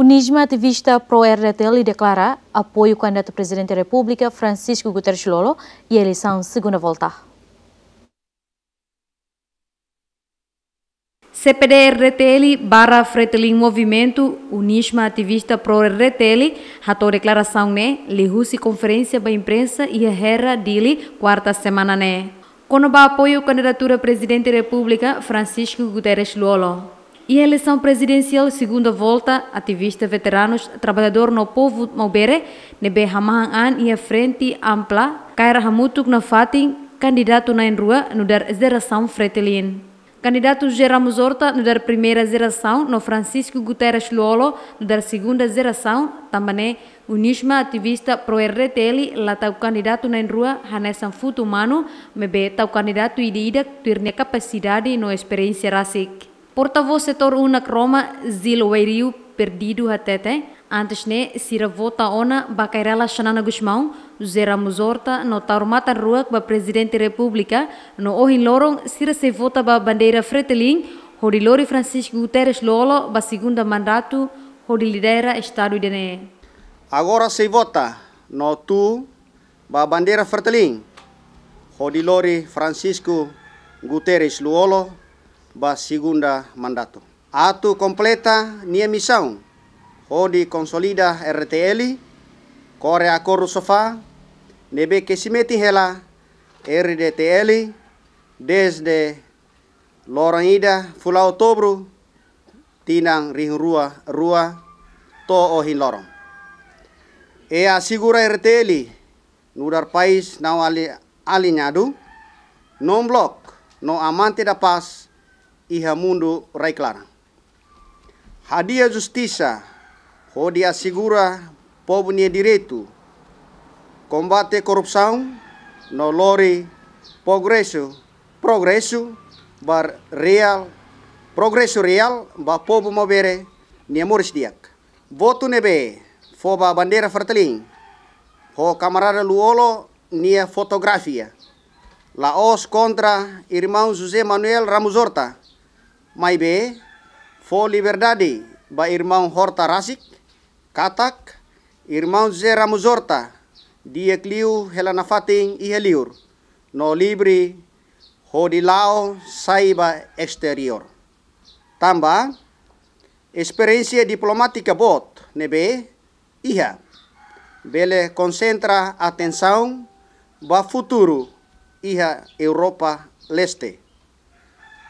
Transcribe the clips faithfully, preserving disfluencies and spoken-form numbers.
Unisma, ativista pró-R D T L, deklara apoiu kandidatu Prezidente Repúblika Francisco Guterres Lú-Olo iha eleisaun segunda volta. C P D R D T L barra Fretilin Movimentu, Unisma, ativista pró-R D T L, hato'o deklarasaun ne'e liuhusi konferénsia ba imprensa iha Hera, Dili, kuarta semana ne'e, kona-ba apoiu kandidatura Prezidente Repúblika Francisco Guterres Lú-Olo. Iha eleisaun prezidensiál segunda volta, ativista veteranus, traballadór no povu Maubere ne'ebé hamahan an iha Frente Ampla kaer hamutuk nafatin kandidatu na'in-rua nu'udar jerasaun Fretilin. Kandidatu José Ramos Horta nu'udar primeira jerasaun no Francisco Guterres Lú-Olo nu'udar segunda jerasaun, tanba ne'e Unisma, ativista pró-R D T L, la tau kandidatu na'in-rua hanesan futu manu, maibé tau kandidatu ida-idak tuir nia kapasidade no esperiénsia rasik. Portavós setór Unak Roma, Zil Wairiu Perdido, hatete, antes ne'e sira vota ona ba Kay Rala Xanana Gusmão, José Ramos Horta no Taur Matan Ruak ba Prezidente Repúblika, no ohin loron sira sei vota ba bandeira Fretilin hodi lori Francisco Guterres Lú-Olo ba segunda mandatu hodi lidera estadu ida-ne'e. Agora sei vota no tuu ba bandeira Fretilin hodi lori Francisco Guterres Lú-Olo ba segunda mandatu. Atu kompleta nia misaun hodi konsolida R D T L, kore akordu sofá ne'ebé ke simetin hela R D T L dezde loron ida fulan Outubru tinan rihun rua rua to'o ohin loron. I asegura R D T L nu'udar país não ali-, aliñadu, non-bloc no amante da paz iha mundu rai-klaran. Hadi'a justisa hodi asegura povu nia direitu, kombate korrupsaun no lori progresu, progresu ba reál, progresu reál ba povu Maubere nia moris di'ak. Votu ne'ebé fó ba bandeira Fretilin ho kamarada Lú-Olo nia fotografia la'ós kontra irmaun José Manuel Ramos Horta, maibé fó liberdade ba irmaun Horta rasik, katak irmaun José Ramos Horta di'ak liu hela nafatin iha liur no livre hodi la'o sai ba esteriór. Tanba esperiénsia diplomátika boot ne'ebé iha, bele konsentra atensaun ba futuru iha Europa Leste.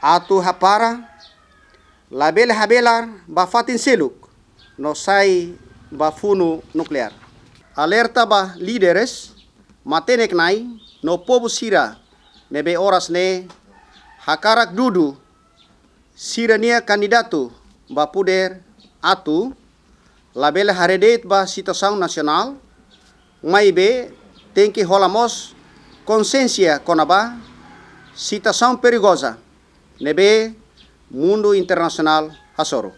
Atu hapara, labele habelar ba fatin seluk no sai ba funu nukleár. Alerta ba líderes matenek-na'in no povu sira ne'ebé oras ne'e hakarak dudu sira-nia kandidatu ba podér atu labele haree de'it ba situasaun nasionál, maibé tenke hola mós konsiénsia kona-ba situasaun perigoza ne'ebé mundu internasionál hasoru.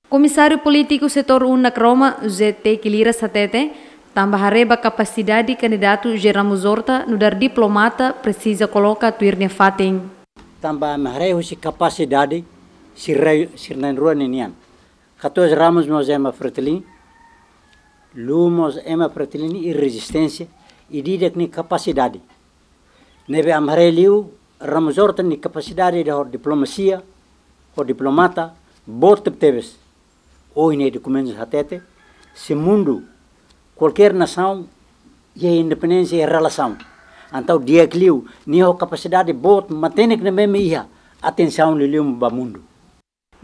Komisáriu polítiku setór Unak Roma, José Teki Liras, hatete, tanba haree ba kapasidade kandidatu José Ramos Horta nu'udar diplomata, presiza koloka tuir nia fatin. Tanba ema haree husi kapasidade sira, sira na'in-rua ninian. Katuas Ramos mós ema Fretilin, Lú mós ema Fretilin iha rezisténsia, ida-idak nia kapasidade. Ne'ebé ami haree liu Ramos Horta nia kapasidade ida ho diplomasia, ho diplomata, boot tebetebes. Ohin ne'e dokumentus hatete, se mundu, kualkér nasaun, iha independénsia iha relasaun. Entaun di'ak liu, nia ho kapasidade boot matenek ne'ebé mak iha, atensaun liuliu ba mundu.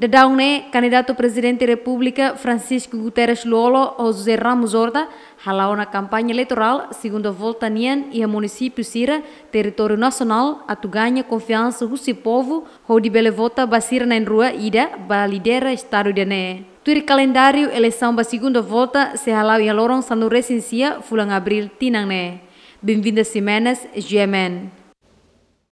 Daudaun ne'e, kandidatu Prezidente Repúblika Francisco Guterres Lú-Olo ho José Ramos Horta hala'o ona kampaña eleitorál segunda volta nian iha munisípiu sira territóriu nasionál atu gaña konfiansa husi povu hodi bele vota ba sira na'in-rua ida ba lidera estadu ida-ne'e. Tuir kalendáriu, eleisaun ba segunda volta sei hala'o iha loron sanulu-resin-sia fulan Abríl tinan ne'e. Benvinda Ximenes, G M N.